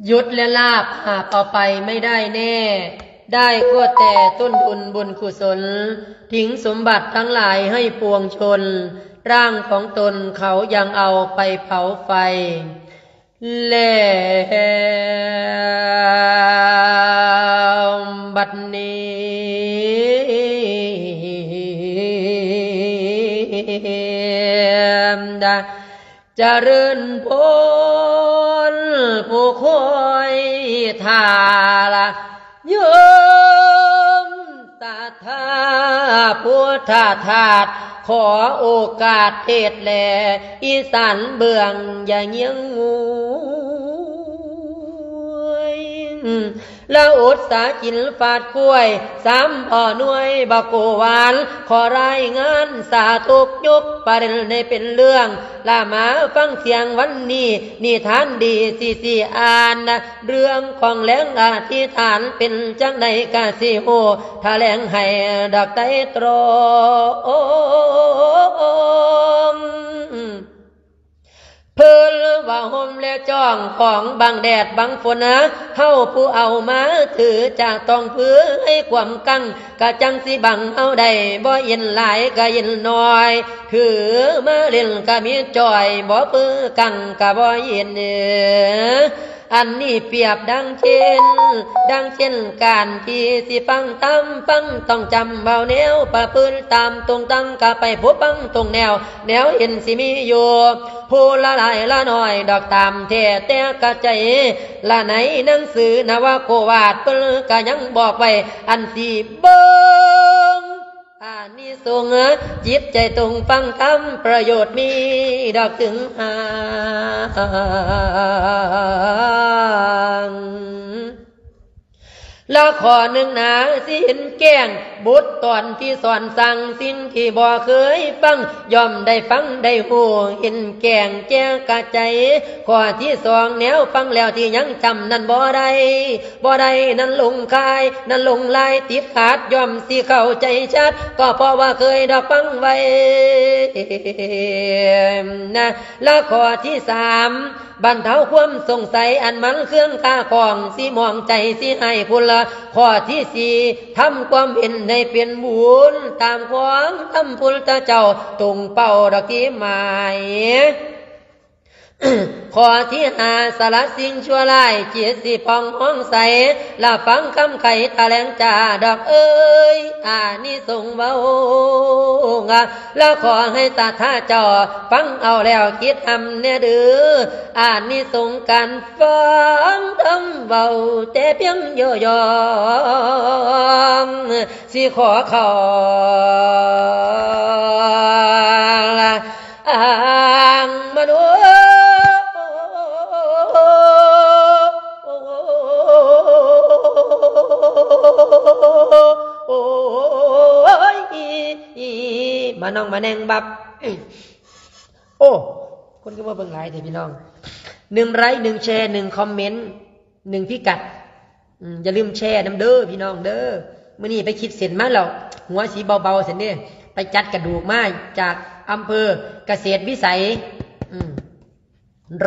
ยศและลาภหาบเอาไปไม่ได้แน่ ได้ก็แต่ต้นทุนบุญกุศล ทิ้งสมบัติทั้งหลายให้ปวงชน ร่างของตนเขายังเอาไปเผาไฟ แล้วบัดนี้ เจริญพรผู้คอยท่าละโยมศรัทธาพุทธทาส ขอโอกาสเทศน์แล อีสานเบื้องอย่าเยียงงวย ละอดสากินฟาดกล้วย สามพ่อหน่วยบักโกหวาน ขอรายงานสาธุยกประเด็นให้เป็นเรื่อง ละมาฟังเสียงวันนี้ นิทานดีสิสิอ่าน เรื่องของแรงอธิษฐานเป็นจั่งใดกะสิฮู้ แถลงให้ดอกไตรตรอง เพิ่นว่าห่มและจ้องของบังแดดบังฝนนะ เฮาผู้เอามาถือจะต้องเพื่อให้ความกัง กะจั่งสิบังเฮาได้ บ่เย็นหลายกะเย็นน้อย ถือมาเล่นกะมีจ่อย บ่เปื้อกังกะบ่เย็นเออ อันนี้เปรียบดังเช่น ดังเช่นการที่สิฟังธรรม ฟังต้องจำเอาแนวประพฤติตามตรงตั้งกะไปพบฟังตรงแนว แนวเห็นสิมีอยู่ ผู้ละหลายละน้อยดอกตามแท้แต่กะใจ ละในหนังสือนวโกวาทเพิ่นกะยังบอกไว้ อันสิเบิ่ง อานิสงส์จิตใจตรงฟังธรรม ประโยชน์มีดอกถึงหาง ละข้อหนึ่งนา สิเห็นแก้ง บทตอนที่สอนสั่งสิ่งที่บ่เคยฟัง ย่อมได้ฟังได้ฮู้ เห็นแก้งแจ้งกะใจ ข้อที่สอง แนวฟังแล้วที่ยังจำนั้นบ่ได้ บ่ได้นั้นหลงคาย นั้นหลงลายติดขาด ย่อมสิเข้าใจชัด ก็เพราะว่าเคยดอกฟังไว้นะ และข้อที่สาม บรรเทาความสงสัยอันมันเครื่องคาของ สิมองใจสิให้พุนละ ข้อที่สี่ ทำความเห็นให้เป็นบุญ ตามของธรรมพุทธเจ้า ตรงเป้าดอกที่หมาย ข้อที่ห้า สละสิ่งชั่วร้าย จิตสิผ่องมองใส ละฟังคำไขแถลงจาดอกเอ้ย อานิสงส์เว้า ละขอให้ศรัทธาเจ้า ฟังเอาแล้วคิดทำแน่เด้อ อานิสงส์การฟังธรรมเว้าแต่เพียงย่อๆ สิขอเข้าอ้างมโน โอ้ย มาน้องมาแนงบับ โอ้ คนก็มาเบิ่งหลายแท้พี่น้อง หนึ่งไลค์ หนึ่งแชร์ หนึ่งคอมเมนต์ หนึ่งพิกัด อืม อย่าลืมแชร์นำเด้อพี่น้องเด้อ มื้อนี้ไปคิดเส้นมาแล้ว หัวสีเบาๆ ซั่นเด้ ไปจัดกระดูกมาจากอำเภอเกษตรวิสัย อืม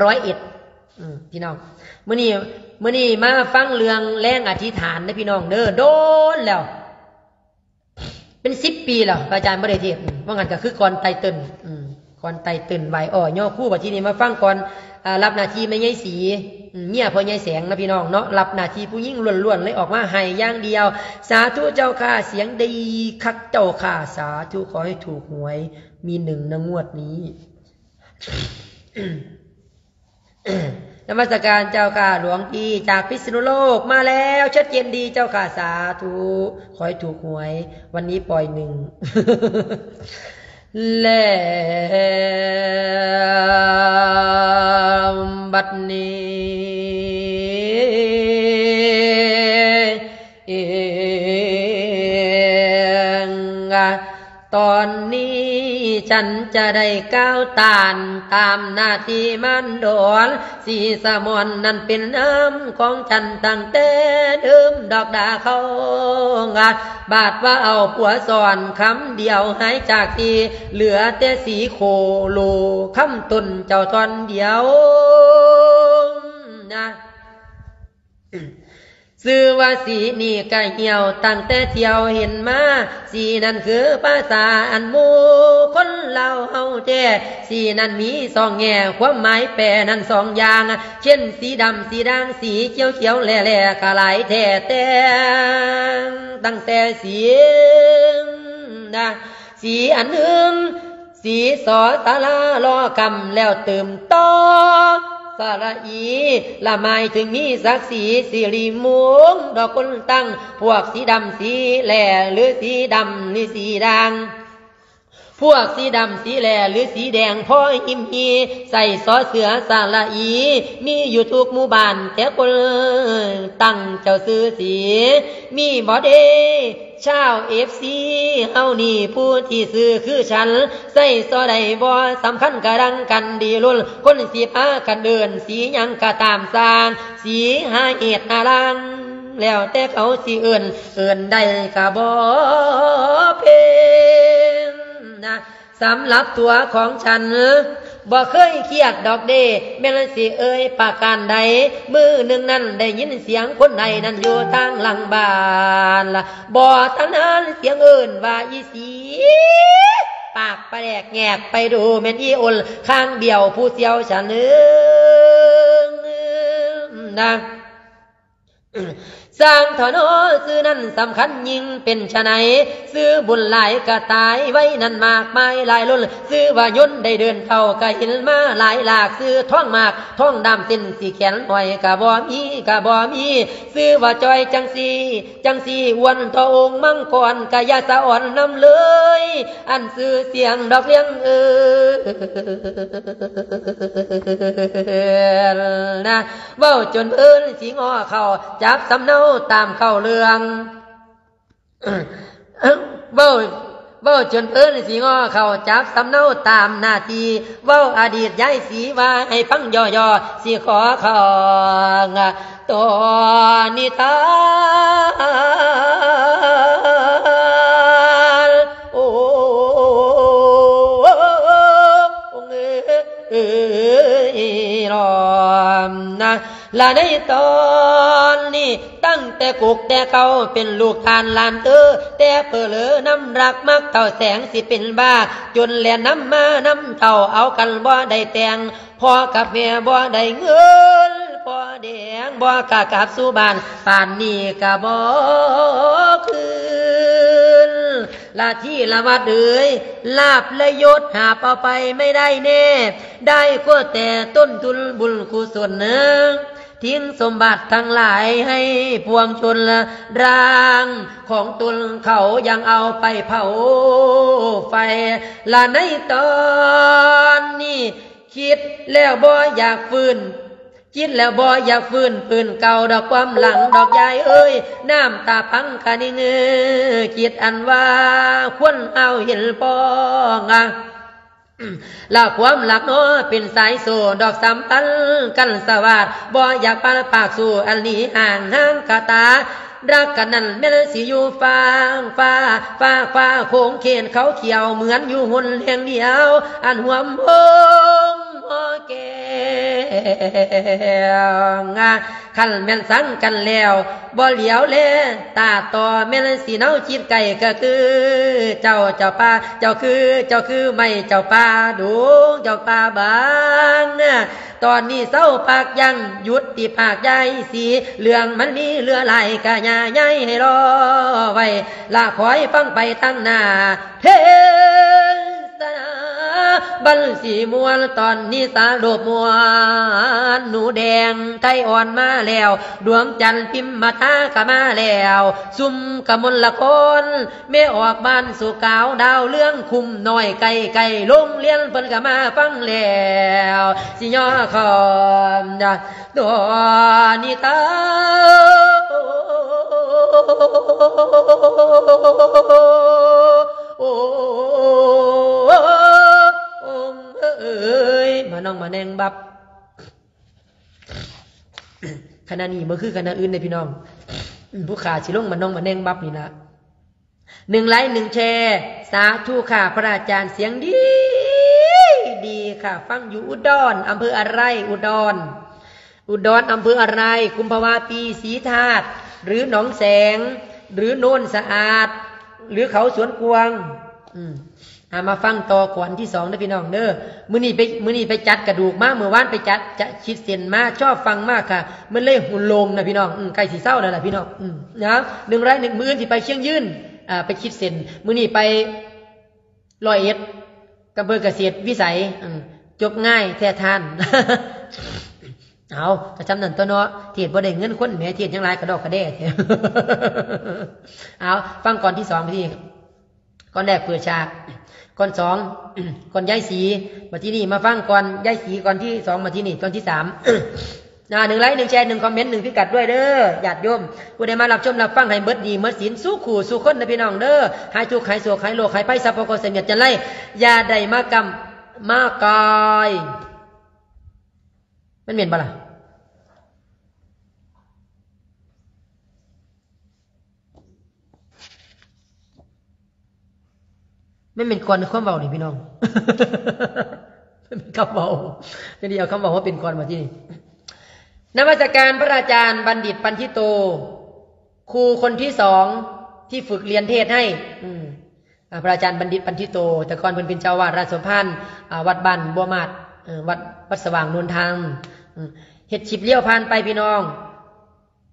ร้อยเอ็ด อืม พี่น้อง มื้อนี้ มื้อนี้มาฟังเรื่องแรงอธิษฐานเด้อพี่น้องเด้อ โดนแล้ว เป็นสิบปีแล้ว พระอาจารย์บ่ได้เทศน์ อืม ว่างั้นก็คือก่อนไตเติ้ล อืม ก่อนไตเติ้ลไหว้อ้อย่อครู บัดทีนี้มาฟังก่อน อ่า รับหน้าที่แม่ใหญ่ศรี อืม เมียพ่อใหญ่แสงนะพี่น้องเนาะ รับหน้าที่ผู้หญิงล้วนๆ เลยออกมาไห้อย่างเดียว สาธุเจ้าค่ะ เสียงดีคักเจ้าค่ะ สาธุ ขอให้ถูกหวย มีหนึ่งนะงวดนี้ นมัสการเจ้าค่ะ หลวงพี่จากพิษณุโลกมาแล้ว ชัดเจนดีเจ้าค่ะ สาธุ ขอให้ถูกหวย วันนี้ปล่อยหนึ่ง แล้วบัดนี้ เอง ตอนนี้ฉันจะได้ก้าวตานตามหน้าที่มารดอน สีสมอนนั้นเป็นน้ำของฉันตั้งแต่เดิมดอกดาเขา บาดว่าเอาผัวสอนคำเดียวหายจากที่ เหลือแต่สีโคโลคำตนเจ้าท่อนเดียวนะ ຊື່ວ່າສີນີ້ກະຫ່ຽວຕັ້ງແຕ່ທ່ຽວເຫັນມາ, ສີນັ້ນຄືພາສາອັນໝູ່ຄົນລາວເຮົາແທ້. ສີນັ້ນມີສອງແງ່ ຄວາມໝາຍແປນັ້ນສອງຢ່າງ, ເຊັ່ນ ສີດຳ ສີດ່າງ ສີຂຽວຂຽວແຫຼ່ແຫຼ່ ກະຫຼາຍແທ້ແຕ່ງ ຕັ້ງແຕ່ສີ ນະ ສີອັນໜຶ່ງ ສີ ສ ສະຫຼະ ລໍ ກຳ ແລ້ວຕື່ມ ຕ ສະຫຼະ ອີ ລະ ໝາຍເຖິງມີສັກສີ ສິລິມຸງ ດອກຄົນຕັ້ງ ພວກສີດຳ ສີແຫຼ່ ຫຼື ສີດຳ ຫຼື ສີດ່າງ ພວກສີດຳ ສີແຫຼ່ ຫຼື ສີແດງ ພໍຫິມຮີ ໃສ່ ສ ເສືອ ສະຫຼະ ອີ ມີຢູ່ທຸກໝູ່ບ້ານ ແຕ່ຄົນຕັ້ງເຈົ້າຊື່ສີ ມີບໍ່ເດ? ຊາວເອັຟຊີເຮົານີ້ ຜູ້ທີ່ຊື່ຄືສັນ ໃສ່ຊໍໃດບໍ່ສຳຄັນກະດັງກັນດີລຸນ ຄົນຊິພາກັນເອີ້ນສີຫຍັງກະຕາມຊ່າງ ສີຫາເຫດຫາລາງ ແລ້ວແຕ່ເຂົາຊິເອີ້ນ ເອີ້ນໄດ້ກະບໍ່ເປັນນະ. ສຳລັບຕົວຂອງສັນ ບໍ່ເຄີຍຄຽດດອກເດ ແມ່ນຊິເອີ່ຍປະການໃດ. ມື້ໜຶ່ງນັ້ນໄດ້ຍິນສຽງຄົນໄຫ້ນັ້ນຢູ່ທາງຫຼັງບ້ານ ບໍ່ທັນຫັນສຽງເອີ້ນວ່າອີສີ ປາກປະແດກແຫງກ ໄປດູແມ່ນອີອົນ ຄາງບ້ຽວຜູ້ສ່ຽວສະເໜີນະ. ຊ່າງເຖາະເນາະ ຊື່ນັ້ນສຳຄັນຍິ່ງເປັນຊະໃນ ຊື່ບຸນຫຼາຍກະຕາຍໄວນັ້ນມາກມາຍຫຼາຍລົ້ນ ຊື່ວ່າຍົນໄດ້ເດີນເຂົ້າກະເຫັນມາຫຼາຍຫຼາກ ຊື່ທ້ອງໝາກທ້ອງດຳ ເສັ້ນສີແຂນຫ້ອຍກະບໍ່ມີ ກະບໍ່ມີ ຊື່ວ່າຈ່ອຍຈັ່ງຊີ້ ຈັ່ງຊີ້ ອ້ວນທໍ່ອົງມັງກອນ ກະຢ່າສະອອນນຳເລີຍ ອັນຊື່ສຽງດອກລຽງເອີນນະ. ເວົ້າຈົນເພິ່ນຊິງໍ້ເຂົ້າ ຈັບສຳເນົາຕາມເຂົ້າເລື່ອງ ເວົ້າ ເວົ້າຈົນເພິ່ນຊິງໍ້ເຂົ້າ ຈັບສຳເນົາຕາມໜ້າທີ່ ເວົ້າອະດີດຍາຍສີວ່າໃຫ້ຟັງຫຍໍ້ໆ ຊິຂໍເຂົ້າ ຕອນນິທານ ໂອ້ ເອີຍ ລອມນະ ລະໃນຕອນນີ້ ຕັ້ງແຕ່ກົກແຕ່ເກົ່າ ເປັນລູກທ່ານຫຼານເອີ ແຕ່ເພີເລີນຳລັກມັກເທົ່າແສງ ຊິເປັນບ້າ ຈົນແລ່ນນຳມານຳເທົ່າ ເອົາກັນບໍ່ໄດ້ແຕ່ງ ພໍ່ກັບແມ່ບໍ່ໄດ້ເງິນ ພໍ່ແດງບໍ່ກະກັບສູ່ບ້ານ ປານນີ້ກະບໍ່ຄືນ ລະທີ່ລະວັດເອີຍ ລາບລະຍົດຫາບເອົາໄປໄມ່ໄດ້ແນ່ ໄດ້ກໍແຕ່ຕົ້ນທຶນບຸນກຸສົນ ຖິ້ມສົມບັດທັງຫຼາຍໃຫ້ປວງຊົນ ຮ່າງຂອງຕົນເຂົາຍັງເອົາໄປເຜົາໄຟ ລະໃນຕອນນີ້ ຄິດແລ້ວບໍ່ຢາກຟື້ນ ຄິດແລ້ວບໍ່ຢາກຟື້ນ ຟື້ນເກົ່າດອກຄວາມຫຼັງດອກຍາຍເອີຍ ນ້ຳຕາພັງກະນິງ ຄິດອັນວ່າຄວນເອົາເຫັນປ້ອງ ລະຄວາມລັກເນາະ ເປັນສາຍໂສ້ດອກສຳພັນກັນສະຫວາດ ບໍ່ຢາກປານປາກສູ້ອັນນີ້ຫ່າງຫາງກະຕາ ລັກກັນນັ້ນແມ່ນຊິຢູ່ຟາກຟ້າ ຟາກຟ້າໂຂງເຂດເຂົາຂຽວ ເໝືອນຢູ່ຫົນແຫ່ງດຽວ ອັນຮ່ວມວົງຫໍແກ້ວ ຄັນແມ່ນຊັງກັນແລ້ວ ບໍ່ຫຼຽວແລຕາຕໍ່ ແມ່ນຊິເນົາຈິດໃກ້ ກະຄືເຈົ້າ ເຈົ້າປ່າ ເຈົ້າຄື ເຈົ້າຄືໄມ້ ເຈົ້າປ່າດົງ ເຈົ້າປ່າບາງ ຕອນນີ້ເຊົາປາກຢັ້ງ ຢຸດຕິປາກຢາຍສີ ເລື່ອງມັນມີເຫຼືອຫຼາຍ ກະຢ່າຍາຍໃຫ້ລໍໄວ້ ລະຄອຍຟັງໄປທາງໜ້າ ເທສະນາບັນສີມ່ວນ ຕອນນີ້ສາໂລບມ່ວນ ໜູແດງໄທອ່ອນມາແລ້ວ ດວງຈັນພິມມະທາກະມາແລ້ວ ຊຸມກະມົນລະຄອນ ແມ່ອອກບ້ານສຸກາວ ດາວເລື່ອງຄຸ້ມນ້ອຍ ໃກ້ໆໂລງຮຽນເພິ່ນກະມາຟັງແລ້ວ ຊິຍໍຄອມດອນນິທາ ໂອ້ ໂອ້ ໂອ້ ໂອ້ ໂອ້ ເອີຍ ມານ້ອງມາແນງບັບ ຄະນະນີ້ບໍ່ຄືຄະນະອື່ນເດ້ພີ່ນ້ອງ ຜູ້ຂ້າຊິລົງມານ້ອງມາແນງບັບນີ້ລະ ໜຶ່ງໄລຄ໌ ໜຶ່ງແຊ ສາທຸຄ່ະ ພະອາຈານສຽງດີ ດີຄ່ະ ຟັງຢູ່ອຸດອນ ອຳເພີອະໄລ ອຸດອນ ອຸດອນ ອຳເພີອະໄລ? ກຸມພະວາປີ, ສີທາດ ຫຼື ໜອງແສງ ຫຼື ໂນນສະອາດ ຫຼື ເຂົາສວນກວາງ? ອືມ ອ່າ ມາຟັງຕໍ່ກອນທີສອງເດີພີ່ນ້ອງເດີ. ມື້ນີ້ໄປ ມື້ນີ້ໄປຈັດກະດູກມາ, ມື້ວານໄປຈັດ ຈະ ຂີດເສັ້ນມາ, ຊອບຟັງມາກະ ມັນເລີຍໂລ່ງນະພີ່ນ້ອງ. ອືມ ໃກ້ຊິເຊົາແລ້ວລະພີ່ນ້ອງ. ອືມ ເອົາ ໜຶ່ງໄລໜຶ່ງ ມື້ອື່ນຊິໄປຊຽງຍືນ ອ່າ ໄປຂີດເສັ້ນ, ມື້ນີ້ໄປ ຮ້ອຍເອັດ ອຳເພີກະເສດວິໄສ. ເອີ ຈົບງ່າຍແທ້ທ່ານ. ເອົາ ກະຊ່ຳນັ້ນຕົວະເນາະ, ເທດບໍ່ໄດ້ເງິນຄົນແໝ, ເທດຫຍັງຫຼາຍກະດອກກະແດ່ແທ້. ເອົາ ຟັງກອນທີສອງ ບາດທີນີ້ ກອນແລກເປີດສາກ, ກອນສອງ ກອນຍາຍສີ, ບາດທີນີ້ມາຟັງກອນຍາຍສີ ກອນທີສອງ, ບາດທີນີ້ກອນທີສາມ. ອ່າ ໜຶ່ງໄລ ໜຶ່ງແຊ ໜຶ່ງຄອມເມັນ ໜຶ່ງພິກັດດ້ວຍເດີ ຍາດໂຍມ. ຜູ້ໃດມາຮັບຊົມຮັບຟັງໃຫ້ເບິດໜີ້ເໝິດສິນ ສູ່ຄູ່ສູ່ຄົນເດີພີ່ນ້ອງເດີ, ຫາຍທຸກຫາຍໂສກຫາຍໂລກຫາຍໄພ ສັບພະເຄາະສະເຫຍດຈັນໄລ ຢ່າໄດ້ມາກຳມາກາຍ. ມັນແມ່ນບໍ່ລະ? ມັນແມ່ນກ່ອນຄວາມເວົ້ານີ້ພີ່ນ້ອງ, ມັນແມ່ນຄຳເວົ້າ, ຈັ່ງໃດເອົາຄຳເວົ້າມາເປັນກ່ອນບາດທີນີ້. ນະມັດສະການພະອາຈານບັນດິດ ປັນທິໂຕ, ຄູຄົນທີສອງທີ່ຝຶກຮຽນເທດໃຫ້. ອືມ ອ່າ ພະອາຈານບັນດິດ ປັນທິໂຕ, ແຕ່ກ່ອນເພິ່ນເປັນເຈົ້າອາວາດລາຊະສົມພານ ອ່າ ວັດບ້ານບົວມາດ, ເອີ ວັດ ວັດສະຫວ່າງໂນນທາງ. ອືມ ເຮັດຄລິບລ້ຽວຜ່ານໄປພີ່ນ້ອງ.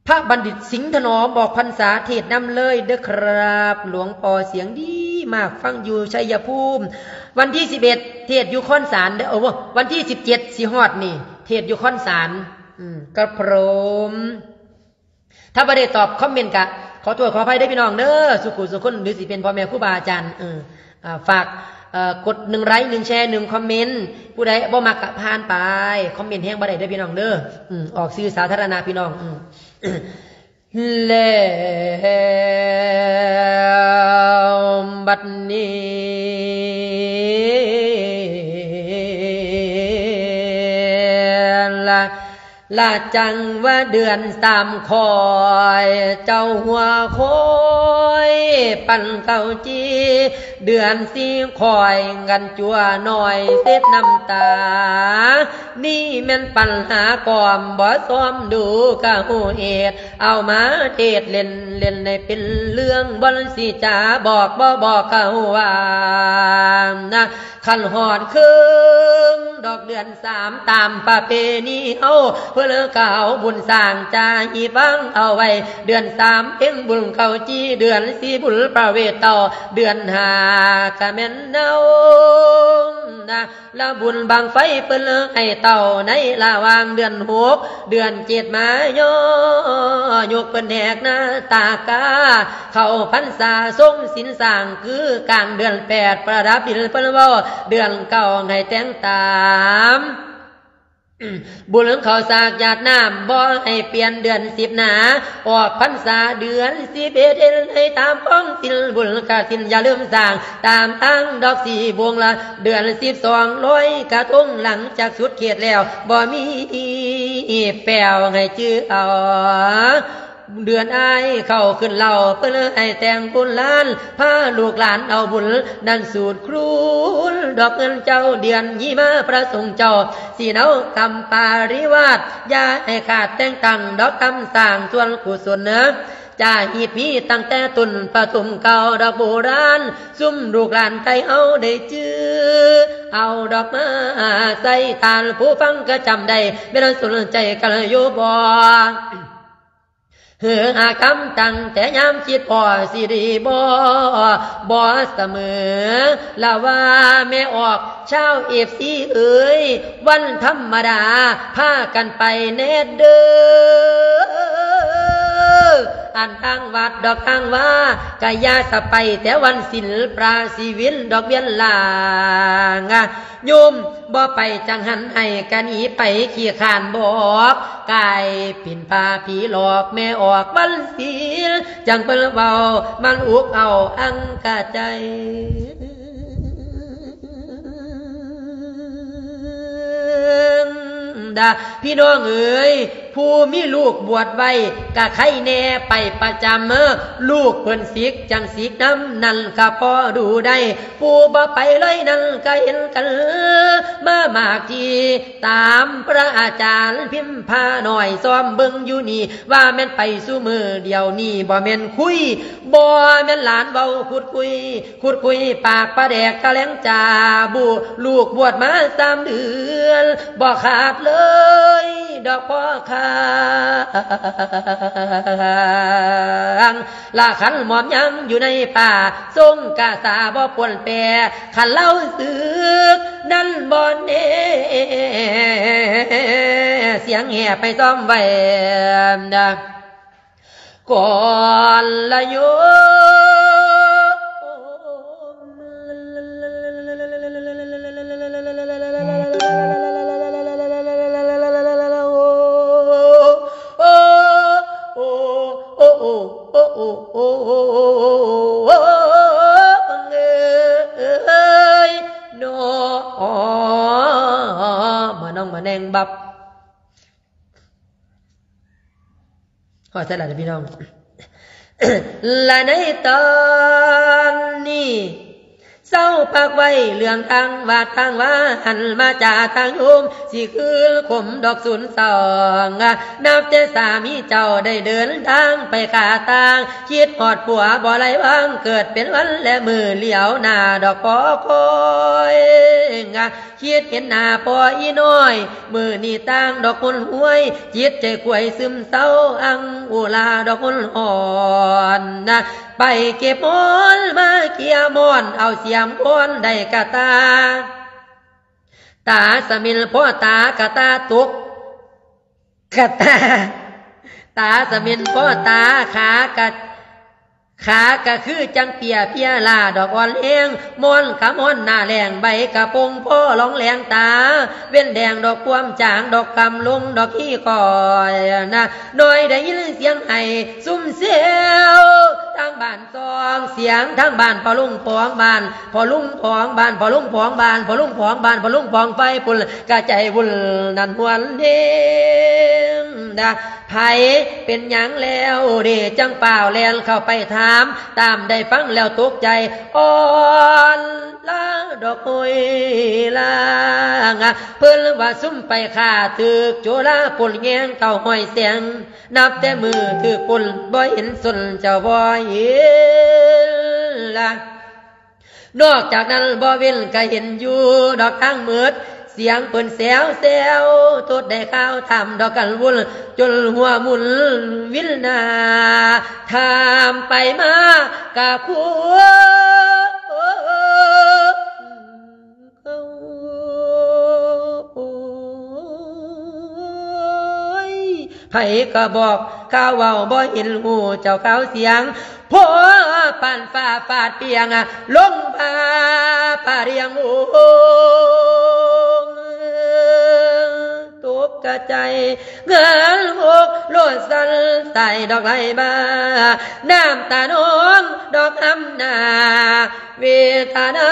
ພະບັນດິດ ສິງຖະໜອມ ອອກພັນສາເທດນຳເລີຍເດີຄັບ. ຫຼວງພໍ່ສຽງດີມາກ, ຟັງຢູ່ໄຊຍະພູມ. ວັນທີສິບເອັດ ເທດຢູ່ຄອນສານເດີ. ເອີ ວັນທີສິບເຈັດຊິຮອດນີ້ ເທດຢູ່ຄອນສານ. ອືມ ກະພຣົມ. ຖ້າບໍ່ໄດ້ຕອບຄອມເມັນກະຂໍໂທດຂໍອະໄພເດີພີ່ນ້ອງເດີ ສູ່ຄູ່ສູ່ຄົນ ຫຼືຊິເປັນພໍ່ແມ່ຄູບາອາຈານ. ເອີ ອ່າ ຝາກ ເອີ ກົດໜຶ່ງໄລ ໜຶ່ງແຊ ໜຶ່ງຄອມເມັນ. ຜູ້ໃດບໍ່ມັກກະຜ່ານໄປ, ຄອມເມັນແຮງບໍ່ໄດ້ເດີພີ່ນ້ອງເດີ. ອືມ ອອກສື່ສາທາລະນະພີ່ນ້ອງ. ອືມ ແລ້ວບັດນີ້ລະ ລະຈັ່ງວ່າເດືອນສາມຂ້ອຍ ເຈົ້າຫົວໂຄຍປັນເຂົ້າຈີ່, ເດືອນສີ່ຂ້ອຍກັນຈົວໜ້ອຍເຊັດນ້ຳຕາ. ນີ້ແມ່ນປັນຫາກອມ ບໍ່ຊອມດູກະຮູ້ເຫດ, ເອົາມາເທດເຫຼັ້ນໆ ໃຫ້ເປັນເລື່ອງ ບໍ່ຊິຈາບອກບໍ່ບອກເຂົາວ່ານະ. ຄັນຮອດເຄິ່ງດອກເດືອນສາມ ຕາມປະເພນີເຮົາ ເພິ່ນກະເອົາບຸນສ້າງຈາຮີບວາງເອົາໄວ້. ເດືອນສາມເພັງບຸນເຂົ້າຈີ່, ເດືອນສີ່ບຸນປະເວດເຕົ້າ, ເດືອນຫ້າກະແມ່ນເນົານະ ລະບຸນບັ້ງໄຟເພິ່ນໃຫ້ເຕົ້າ. ໃນລະຫວ່າງເດືອນຫົກ ເດືອນເຈັດມາຍໍຍົກເພິ່ນແຫກໜ້າຕາກາ ເຂົ້າພັນສາຊົງສິນສ້າງ ຄືກາງເດືອນແປດປະດັບດິນເພິ່ນເວົ້າ ເດືອນເກົ້າໃຫ້ແຕ່ງຕາມ ບຸນເຂົ້າສາກຢາດນ້ຳ ບໍ່ໃຫ້ປ່ຽນເດືອນສິບໜາ ອອກພັນສາເດືອນສິບເອັດ ເຮັດໃຫ້ຕາມຂອງສິນ ບຸນກະສິນຢ່າລືມສ້າງ ຕາມທາງດອກສີ່ວົງລະ ເດືອນສິບສອງລອຍກະທົງ ຫຼັງຈາກສຸດເຂດແລ້ວ ບໍ່ມີແປ້ວໃຫ້ຈື່ເອົາ. ເດືອນອ້າຍເຂົ້າຂຶ້ນເລົ່າ ເພິ່ນໃຫ້ແຕ່ງບຸນຫຼານ ພາລູກຫຼານເອົາບຸນນັ້ນສູດຄູນ ດອກເງິນເຈົ້າເດືອນຫິມາ ພະສົງເຈົ້າສິເອົາກຳປະລິວາດ ຢ່າໃຫ້ຂາດແຕ່ງຕັ້ງ ດອກກຳສ້າງສ່ວນກຸສົນເນີ ຈາຮີບມີຕັ້ງແຕ່ຕົ້ນປະຖົມເກົ່າ ດອກໂບລານ ຊຸມລູກຫຼານໄທເຮົາໄດ້ຈື່ ເອົາດອກມາໃສ່ທານ ຜູ້ຟັງກະຈຳໄດ້ ແມ່ນສົນໃຈກັນຢູ່ບໍ່? ເຮີຫາກຳຕັ້ງແຕ່ຍາມຄິດພໍ ຊິດີບໍ່ ບໍ່ສະເໝີລະວ່າແມ່ອອກ ຊາວເອັຟຊີເອີຍ ວັນທຳມະດາພາກັນໄປແດ່ເດີ ອັນທາງວັດດອກທາງວາ ກະຢ່າສະໄປແຕ່ວັນສິນ ພະສິວິນດອກວຽນລາງ ໂຍມບໍ່ໄປຈັ່ງຫັ້ນ ໃຫ້ກະໜີໄປຂີ້ຄ້ານບອກ ກາຍເປັນພະຜີຫຼອກ ແມ່ອອກວັນສິນ ຈັ່ງເພິ່ນເວົ້າ ມັນອຸກເອົາອັງກະໃຈ ຕາ ພີ່ນ້ອງເອີຍ ຜູ້ມີລູກບວດໄວ້ກະໄຄແນ່ໄປປະຈຳ ເອີ ລູກເພິ່ນສິກຈັ່ງສິກນຳ ນັ້ນກະພໍດູໄດ້ ຜູ້ບໍ່ໄປເລີຍນັ້ນກະເຫັນກັນມາມາກທີ ຕາມພະອາຈານພິມພານ້ອຍ ຊອມເບິ່ງຢູ່ນີ້ ວ່າແມ່ນໄປຊຸມື້ດຽວນີ້ ບໍ່ແມ່ນຄຸຍ ບໍ່ແມ່ນຫຼານເວົ້າຂຸດຄຸຍ ຂຸດຄຸຍປາກປາແດກຕະແຫຼງຈາບູ ລູກບວດມາສາມເດືອນ ບໍ່ຂາດເລີຍດອກພໍ່ຄ້າງ ລະຄັນໝອມຍັງຢູ່ໃນປ່າ ຊົງກະສາບໍ່ປົນແປ ຄັນລາວສຶກນັ້ນບໍ່ແນ່ ສຽງແຫ່ໄປຊ້ອມໄວ້ ກ່ອນລະໂຍມ ໂອ້ ໂອ້ ໂອ້ ໂອ້ ໂອ້ ໂອ້ ໂອ້ ເອີຍ ເນາະ ມານ້ອງມາແນງບັບ ຮອດໃສລະພີ່ນ້ອງ ລະໃນຕອນນີ້ ເຊົາພັກໄວ້ເລື່ອງທາງວາດທາງວາ ຫັນມາຈາທາງໂຍມ ຊິຄືນຄົມດອກສູນສອງ ນັບແຕ່ສາມີເຈົ້າໄດ້ເດີນທາງໄປຂ້າຕ່າງ ຄິດຮອດຜົວບໍ່ໄດ້ວາງ ເກີດເປັນວັນແລະມື້ຫຼຽວໜ້າດອກພໍຄອຍ ຄິດເຫັນໜ້າພໍ່ອີນ້ອຍ ມື້ນີ້ຕ່າງດອກຄົນຮວຍ ຈິດໃຈຂວຍຊຶມເສົ້າ ອັງອຸລາດອກຄົນຮ້ອນນະ ໄປເກັບມອນມາເກ່ຍມອນ ເອົາສຽມຄອນໄດ້ກະຕາ ຕາສະເໝັນພໍ່ຕາກະຕາຕົກ ກະຕາ ຕາສະເໝັນພໍ່ຕາ ຂາກະ ຂາກະຄືຈັ່ງເປຍເພຍລ້າດອກອ່ອນແຮງ ມອນກະມອນໜ້າແລ້ງ ໃບກະປົງພໍລອງແລງຕາ ເວັ້ນແດງດອກຄວາມຈາງ ດອກຄຳລົງດອກຮີຄອຍນະ ນ້ອຍໄດ້ຍິນສຽງໄຫ້ຊຸ່ມແຊວ ທາງບ້ານ ສອງສຽງທາງບ້ານ ພໍ່ລຸງຂອງບ້ານ ພໍ່ລຸງຂອງບ້ານ ພໍ່ລຸງຂອງບ້ານ ພໍ່ລຸງຂອງບ້ານ ພໍ່ລຸງຂອງໄຟພຸ້ນ ກະໃຈວຸ່ນນັ້ນຮວນເດງດາ ໃຜເປັນຫຍັງແລ້ວເດ ຈັ່ງຟ້າວແລ່ນເຂົ້າໄປຖາມ ຕາມໄດ້ຟັງແລ້ວຕົກໃຈ ອ່ອນລາດອກໂອຍລາ ເພິ່ນວ່າຊຸ່ມໄປຂ້າຖືກໂຈລາ ປຸ້ນແຍງເກົ້າຮ້ອຍແສງ ນັບແຕ່ມື້ຖືກປຸ້ນ ບໍ່ເຫັນສົນເຈົ້າບໍ່ເຫັນລະ ນອກຈາກນັ້ນບໍ່ເວັ້ນກະເຫັນຢູ່ດອກທາງມືດ ສຽງເພິ່ນແຊວແຊວ ຕົດໄດ້ຂ່າວຖາມດອກກັນວຸ່ນ ຈົນຫົວໝຸ່ນວິນໜ້າ ຖາມໄປມາກະຄົວ ໂອ້ຍ ໃຜກໍບອກຂ່າວເວົ້າ ບໍ່ເຫັນຮູ້ເຈົ້າຂ່າວສຽງ ພໍປານຟ້າຟາດປຽງ ລົງມາປະດຽງໂອງ ຕົກກະໃຈ ເງືອນຫົກໂລດສັ່ນສາຍດອກໄຫຼມາ ນ້ຳຕານອງດອກອຳນາ ເວທະນາ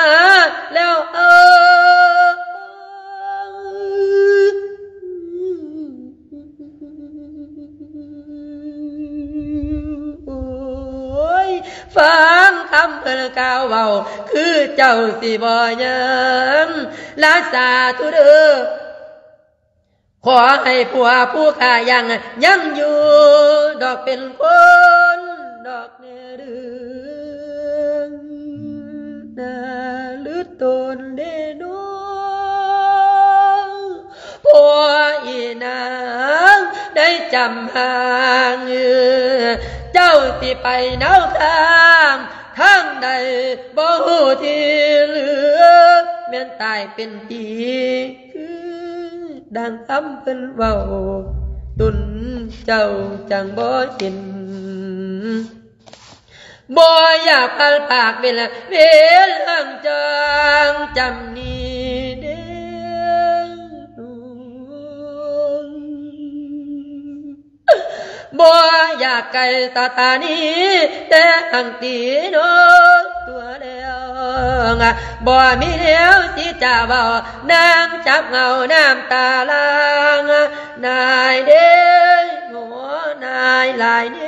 ແລ້ວເອີ ໂອ້ຍ ຟັງຄຳເພິ່ນກ່າວເວົ້າ ຄືເຈົ້າຊິບໍ່ຍັງ ລາສາທຸເດີ ຂໍໃຫ້ຜົວຜູ້ຂ້າຍັງ ຍັງຢູ່ດອກເປັນຄົນດອກແນ່ເດີ ນາລືຕົນເດໂນ ຜົວອີນາງໄດ້ຈຳຫ່າງ ເຈົ້າຊິໄປແນວທາງ ທາງໃດບໍ່ຮູ້ທີ່ເຫຼືອ ແມ່ນຕາຍເປັນຜີ ຄືດັ່ງຄຳເພິ່ນເວົ້າ ຕົນເຈົ້າຈັ່ງບໍ່ເຫັນ ບໍ່ຢາກພັດພາກເວລາ ເວລາຈັງຈຳນີ້ເດ້ ບໍ່ຢາກໄກສະຖານີ ແຕ່ຫັງຕີນ້ອງຕົວແລ້ວ ບໍ່ມີແນວຊິຈະເວົ້າ ນາງຈັບເຫງົ້ານ້ຳຕາຫຼັ່ງ ນາຍເດ້ ໂຫ ນາຍຫຼາຍແນ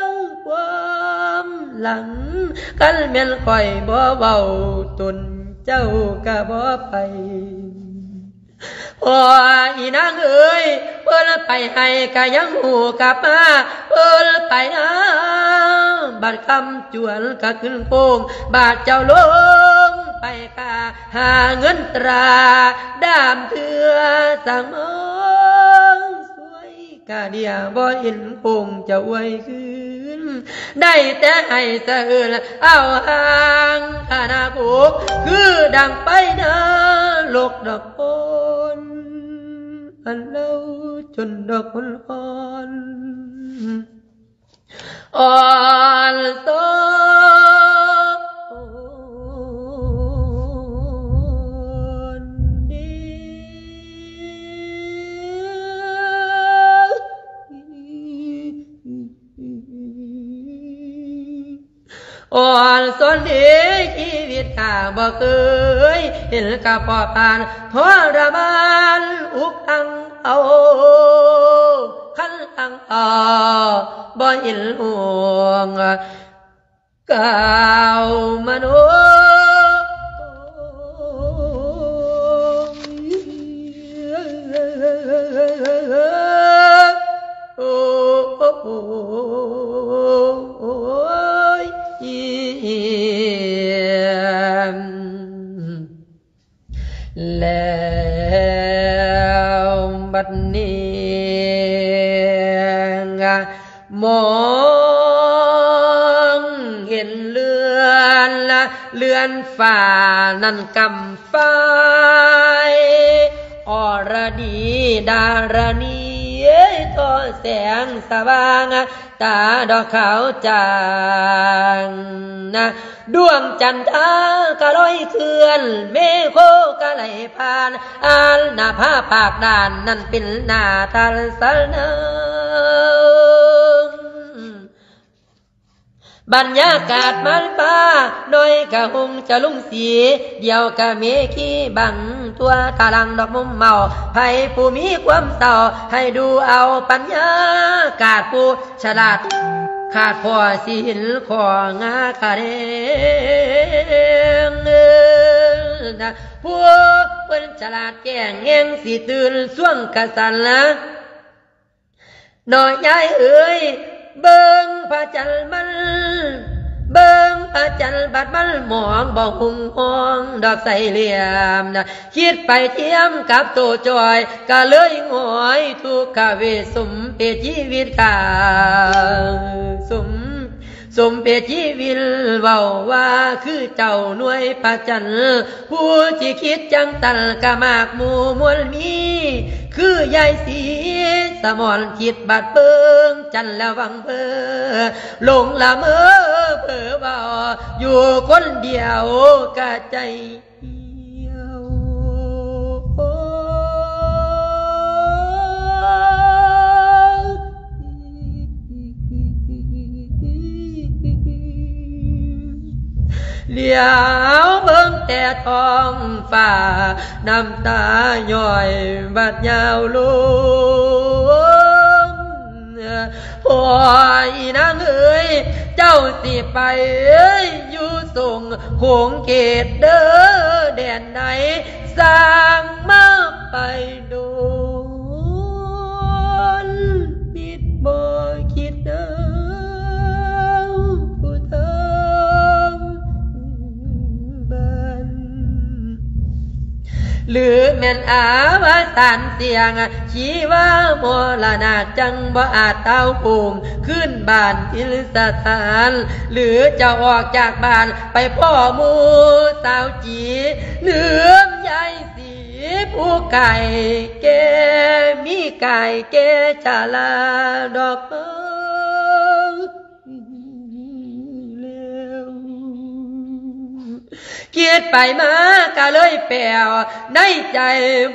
ວຄວາມຫຼັງ ຄັນແມ່ນຂ້ອຍບໍ່ເວົ້າ ຕົນເຈົ້າກະບໍ່ໄປ. ໂອ້ ອີນາງເອີຍ ເພິ່ນໄປໃຫ້ກະຍັງຮູ້ກັບມາ ເພິ່ນໄປນາ ບາດຄຳຈວນກະຂຶ້ນໂຄ້ງ ບາດເຈົ້າລົງໄປກະຫາເງິນຕາ ດາມເທື່ອສັງມາ ຊ່ວຍກະເດຍ ບໍ່ເຫັນໂຄ້ງຈະອວຍຄືນ ໄດ້ແຕ່ໃຫ້ສະເອີນເອົາຫາງຄະນະໂກກ ຄືດັ່ງໄປນະລົກດອກໂພນ ອັນເລົ່າຈົນດອກໂພນອ່ອນ ອ່ອນໂຊນດີ. ອ່ອນໂຊນເດ ຊີວິດຂ້າບໍ່ເຄີຍເຫັນກະພໍປານທໍລະມານອຸກອັ່ງເອົາ ຄັນອັ່ງເອົາບໍ່ເຫັນຫ່ວງ ກ່າວມະໂນ ໂອ້ ຍ ແລ້ວບັດນີ້ ມອງເຫັນເຮືອນ ເຮືອນຟ້ານັ້ນກຳໄຟ ອອລະດີດາລະນີ ທໍ່ແສງສະຫວ່າງ ຕາດອກຂາວຈາງນະ ດວງຈັນທາກະລອຍເຄື່ອນ ເມໂຄກະໄຫຼຜ່ານ ອັນນະພາປາກດ່ານ ນັ້ນເປັນໜ້າທັນສະນາ ບັນຍາກາດມັນຟ້າ ນ້ອຍກະຮຸ່ງຈະລຸງສີ ດຽວກະເມຄີບັງຕົວ ຕາຫຼັງດອກມຸມເມົາ ໃຜຜູ້ມີຄວາມເສົ້າ ໃຫ້ດູເອົາບັນຍາກາດ ຜູ້ ສະຫຼາດຂາດພໍຊິເຫັນຂໍ້ງາຂະແດງ ຜູ້ເພິ່ນສະຫຼາດແຈ້ງແຮງຊິຕື່ນຊ່ວງກະສັນລະ ນ້ອຍຍາຍເອີຍ ເບິ່ງພະຈັນມັນ ເບິ່ງພະຈັນບັດມັນໝອງ ບໍ່ຮຸ່ງຮອງດອກໃສຫຼ່ຽມ ຄິດໄປທຽມກັບໂຕຈ່ອຍ ກະເລີຍຫງອຍທຸກຂະເວດ ສົມເພດຊີວິດກາ ສົມ ສົມເພດຊີວິດ ເວົ້າວ່າຄືເຈົ້າໜ່ວຍພະຈັນ ຜູ້ທີ່ຄິດຈັ່ງຊັ້ນກະມາກໝູ່ມວນມີ ຄືຍາຍສີສະໝອນ ຄິດບັດເບິ່ງຈັນແລ້ວຫວັງເພີ ຫຼົງລະເມີເຜີເວົ້າ ຢູ່ຄົນດຽວກະໃຈ ຫຼຽວເບິ່ງແຕ່ທ້ອງຟ້າ ນ້ຳຕາຍ້ອຍບາດຍາວລົງ. ໂອ້ຍ ນາງເອີຍ ເຈົ້າຊິໄປຢູ່ສົງຂົງເຂດເດີແດນໃດ ສ້າງມາໄປດົນ ມິດບໍ່ຄິດເອົາຜູ້ທາງບ້ານ ຫຼືແມ່ນອາວະສານສ່ຽງ ຊີວາມໍລະນະ ຈັ່ງບໍ່ອາດຕາວໂຮມ ຄືນບ້ານຖິ່ນສະຖານ ຫຼືຈະອອກຈາກບ້ານໄປພໍ້ໝູ່ສາວຈີ ເຫຼືອມຍາຍສີ ຜູ້ກາຍແກ່ ມີກາຍແກ່ຊະລາດອກມາ ແລ້ວ ຄິດໄປມາກະເລີຍແປວ ໃນໃຈ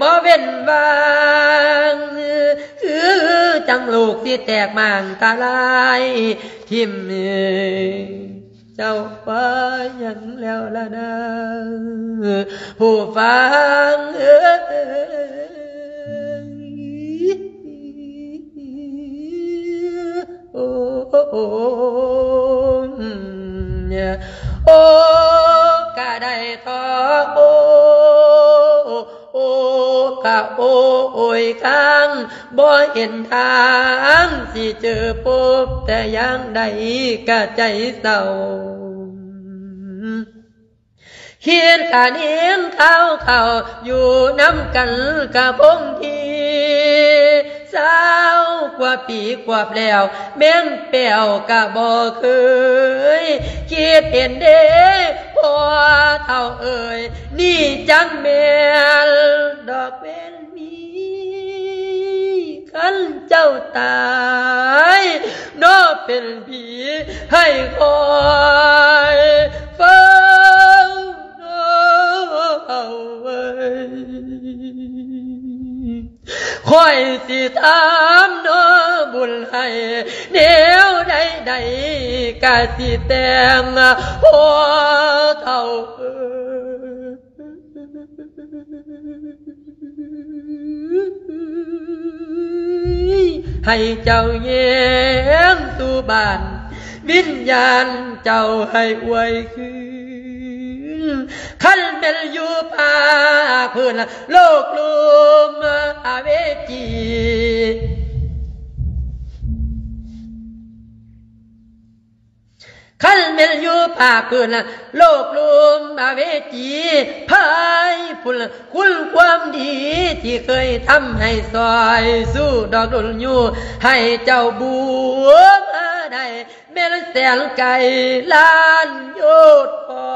ບໍ່ເວັ້ນວ່າງ ຄືຈັ່ງໂລກຊິແຕກໝາງທະລາຍຖິ້ມ. ເຈົ້າວ່າຫຍັງແລ້ວລະນາ ຜູ້ຟັງເອີຍ? ໂອ້ ໂອ້ ກະໄດ້ທໍ່ ໂອ້ ໂອ້ ກະໂອ້ຍຄ້າງ ບໍ່ເຫັນທາງຊິເຈີພົບແຕ່ຢ່າງໃດ ກະໃຈເສົ້າ. ຄິດກະເຫັນຂ່າວເຂົາຢູ່ນຳກັນກະຄົງທີ່ ຊາວກວ່າປີກວບແລ້ວ ແມ່ນແປ້ວກະບໍ່ເຄີຍ ຄິດເຫັນເດ້ພໍ່ເຖົ້າເອີຍ ນີ້ຈັກແມ່ນດອກເວນມີ ຄັນເຈົ້າຕາຍເນາະເປັນຜີໃຫ້ຄອຍເຝົ້າເນາະເອີຍ. ຂ້ອຍຊິຖາມເນາະບຸນໃຫ້ແນວໃດໆ ກະຊິແຕ່ງພໍ່ເຖົ້າເອີຍ ໃຫ້ເຈົ້າແຍງສູ່ບ້ານ ວິນຍານເຈົ້າໃຫ້ອວຍຄືນ ຄັນແມ່ນຢູ່ພາກພື້ນໂລກລຸ່ມອະເວຈີ ຄັນແມ່ນຢູ່ພາກພື້ນໂລກລຸ່ມອະເວຈີ ພາຍພຸ້ນຄຸນຄວາມດີທີ່ເຄີຍທຳໃຫ້ຊ່ອຍສູ້ດອກດຸນຢູ່ ໃຫ້ເຈົ້າບູມາໄດ້ ແມ່ນແສນໄກລ້ານໂຍດ ຂໍ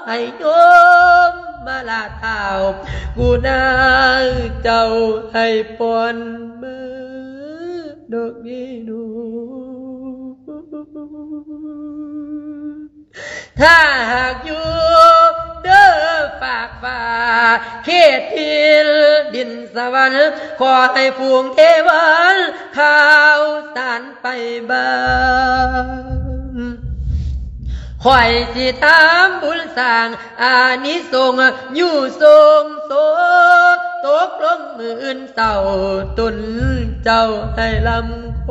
ໃຫ້ໂຍມມາລາທ້າວ ກຸນາເຈົ້າໃຫ້ປ່ອນເມີດອກເດໂນ. ຖ້າຫາກຢູ່ເດີຟາກຟ້າ ເຂດຖິ່ນດິນສະຫວັນ ຂໍໃຫ້ຝູງເທວັນ ຂ່າວສານ ໄປບ້ານ ຂ້ອຍຊິຖາມບຸນສ້າງອານິສົງ ຢູ່ຊົງໂສ ຕົກລົງມື້ອື່ນເຊົ້າ ຕົນເຈົ້າໃຫ້ລຳໂຄ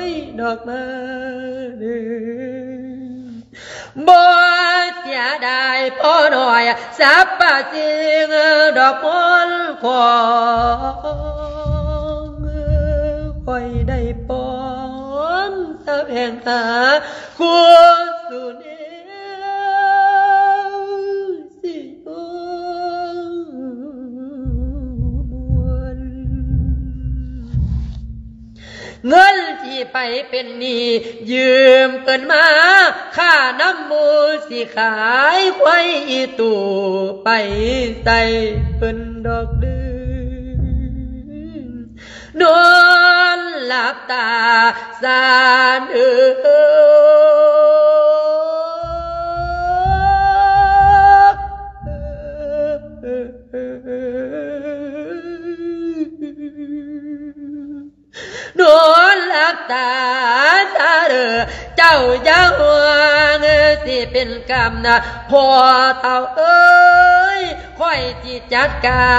ຍດອກມາເດີ. ບໍ່ເສຍດາຍພໍ່ນ້ອຍສັບປະສິ່ງດອກມົນຂອງ ຂ້ອຍໄດ້ປ້ອນສະແຫວງຫາຄູ່ສູ່ແນວຊິຢູ່ມ່ວນ. ເງິນທີ່ໄປເປັນໜີ້ຢືມເພິ່ນມາ ຂ້ານຳໝູ່ຊິຂາຍຄວາຍອີ່ຕູ່ໄປໃສ່ເພິ່ນດອກເດີ ນອນຫຼັບຕາສານເອີ. ນອນຫຼັບຕາຊາເດີ ເຈົ້າຢ່າຫ່ວງຊິເປັນກຳນະ ພໍ່ເຖົ້າເອີຍ ຂ້ອຍຊິຈັດກາ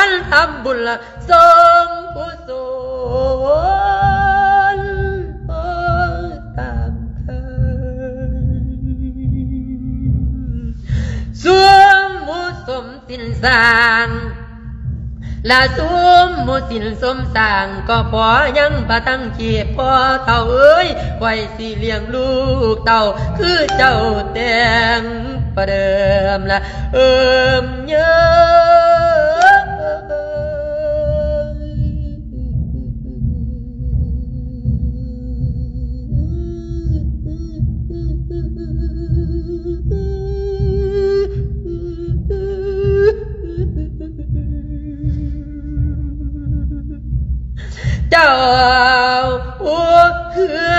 ນທຳບຸນ ສົງກຸສົນຕາມເຄີຍ ສຸມໝູ່ສົມສິນສ້າງ ລະສຸມໝູ່ສິນສົມສ້າງ ກໍພໍຍັງປະທັງເຂດ ພໍ່ເຖົ້າເອີຍ ຂ້ອຍຊິລ້ຽງລູກເຕົ້າ ຄືເຈົ້າແຕ່ງປະເດີມລະ ເອີມເຍີ້ຍ. ເຈົ້າ ໂອ້ ເຄືອ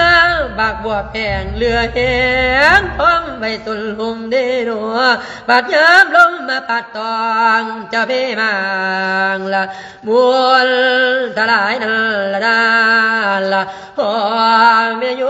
ບັກບົວແພງ ເຫຼືອແຮງທ້ອງໄວ້ສົນຫົງເດໂນ ບາດຍາມລົມມາພັດຕ້ອງ ເຈົ້າເພມາງລະ ມົນທະລາຍນັ້ນລະນາລະ ພໍ່ແມ່ໂຍ